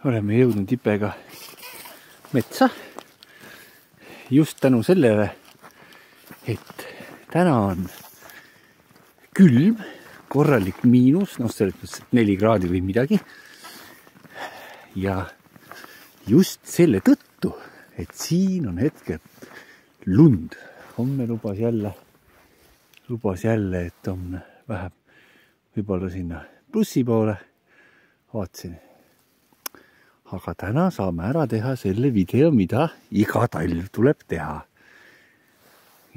oleme jõudnud Ipega metsa just tänu sellele, et täna on külm, korralik miinus, noh selles mõttes 4 kraadi või midagi. Ja just selle tõttu, et siin on hetkel lund. Homme lubas jälle, et on vähem võib-olla sinna plussi poole. Vaatasin. Aga täna saame ära teha selle video, mida iga talv tuleb teha.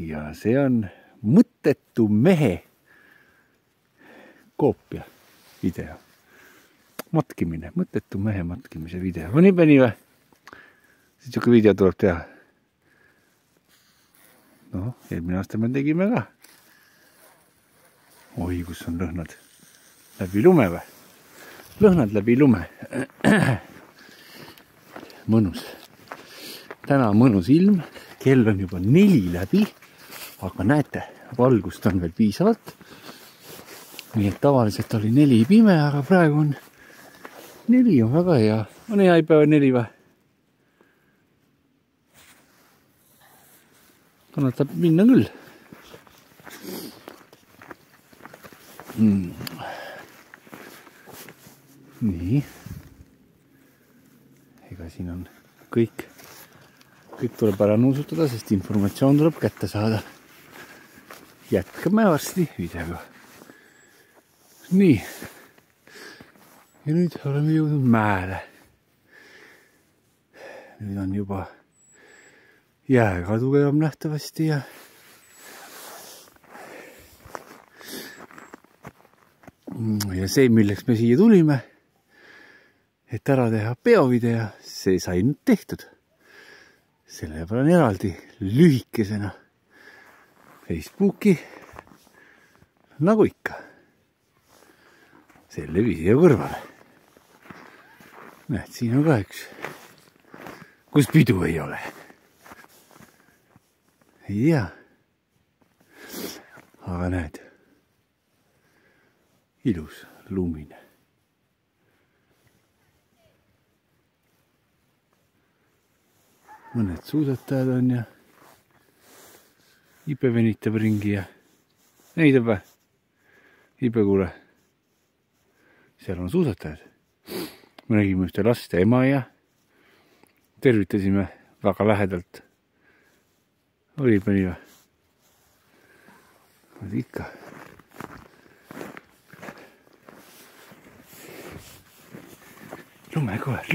Ja see on mõttetu mehe koopia video. Matkimine, mõttetu mehe matkimise video. On nii või? Siis siuke video tuleb teha. No, eelmine aasta me tegime ka. Oi, kus on lõhnad läbi lume või? Lõhnad läbi lume. Mõnus. Täna on mõnus ilm. Kell on juba 4 läbi. Aga näete, valgust on veel piisavalt. Nii et tavaliselt oli 4 pime, aga praegu on 4 on väga hea. On hea päeva 4 või? Kannatab minna küll. Nii. Ega siin on kõik tuleb ära nuusutada, sest informatsioon tuleb kätte saada. Jätkame varsti videoga. Nii. Ja nüüd oleme jõudnud mäele. Nüüd on juba jääga tugevam nähtavasti ja see, milleks me siia tulime, et ära teha peovideo, see sai nüüd tehtud. Selle peale eraldi lühikesena Facebooki, nagu ikka, selle video kõrvale. Näed, siin on ka üks, kus pidu ei ole. Ei tea. Aga näed. Ilus, lumine. Mõned suusatajad on ja Ipe venitab ringi ja näitab või? Ipe kuule. Seal on suusatajad. Me nägime ühte last ja ema ja tervitasime väga lähedalt. Oli mõni või? Oli ikka. Lumekoer.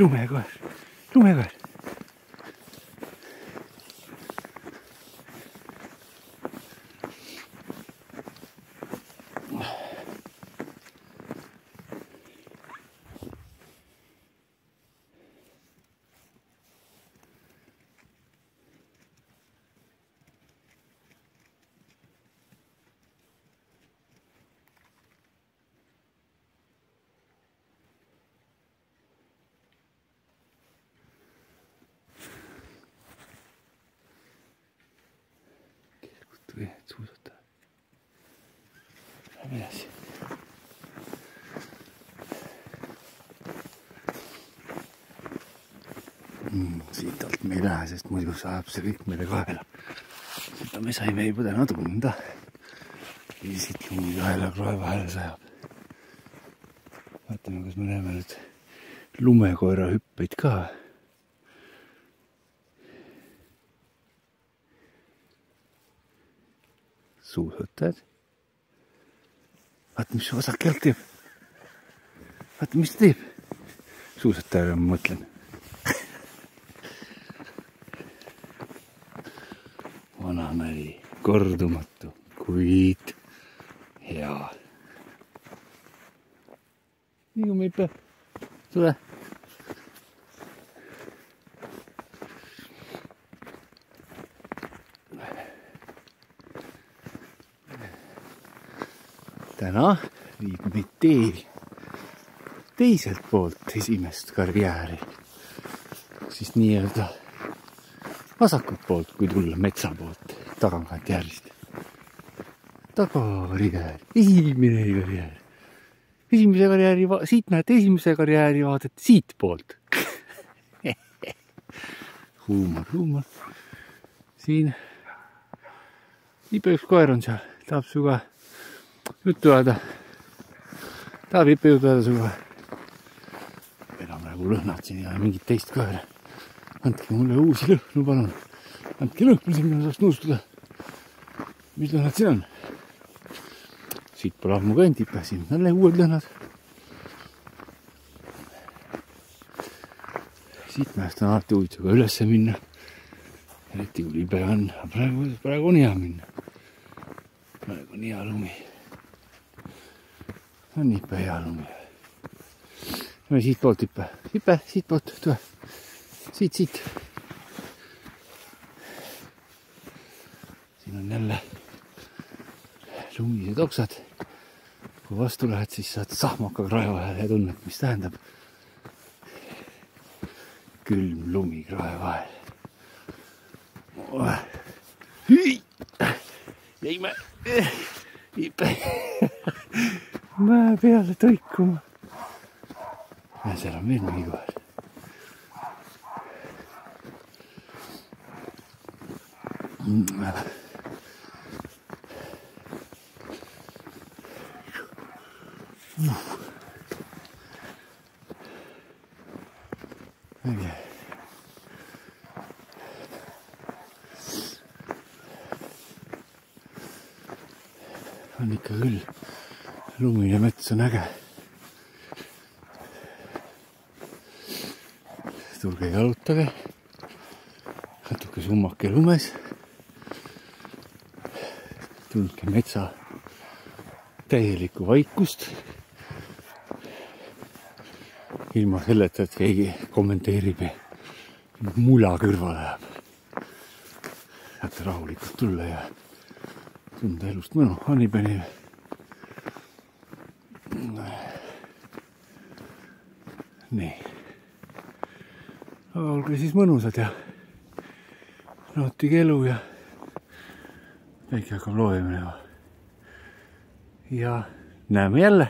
Suusata. Lähme edasi. Siit alt me ei lähe, sest muidu saab see kõik meile kaela. Seda me saime juba täna tunda. Ja siit lumi kaela kroe vahele sajab. Vaatame, kas me näeme nüüd lumekoera hüppeid ka. Suusatajad. Vaata, mis vasak jalg teeb. Vaata, mis ta teeb. Suusatajale ma mõtlen. Vanamäri, kordumatu, kuid hea. Liigume Ipe. Tule. Täna viib meid teiselt poolt esimest karjääri. Siis nii-öelda vasakult poolt, kui tulla metsa poolt, tagankant järjest. Tagakarjäär, esimene karjäär. Siit näete esimese karjääri vaadet siit poolt. huumor. Siin Ipe üks koer on seal, tahab suga juttu ajada. Tahab Ipe juttu ajada suga. Meil on praegu lõhnad siin ja mingit teist koera. Andke mulle uusi lõhnu, palun. Andke lõhnu siin, mina saaks nõustuda. Mis lõhnad siin on? Siit pole ammu käinud Ipe, siin on uued lõhnad. Siit mäest on alati huvitav ka ülesse minna. Eriti kui libe on. Praegu on hea minna. Praegu on hea lumi. On Ipe hea lumi. Lähme siit poolt Ipe. Ipe, siit poolt. Tule. Siit. Siin on jälle lumised oksad. Kui vastu lähed, siis saad sahmaka krae vahel ja tunned, mis tähendab külm lumi krae vahel. Jäime Ipe mäe peale tõikuma. Ja seal on veel mingi koer. Okay. On ikka küll. Lumine mets on äge. Tulge jalutage. Natuke summake lumes. Tundke metsa täielikku vaikust. Ilma selleta, et keegi kommenteerib ja mula kõrvale läheb. Saate rahulikult tulla ja tunda elust mõnu. Annipeni. Nii. Aga olge siis mõnusad ja nautige elu ja väike hakkab loojama. Ja näeme jälle.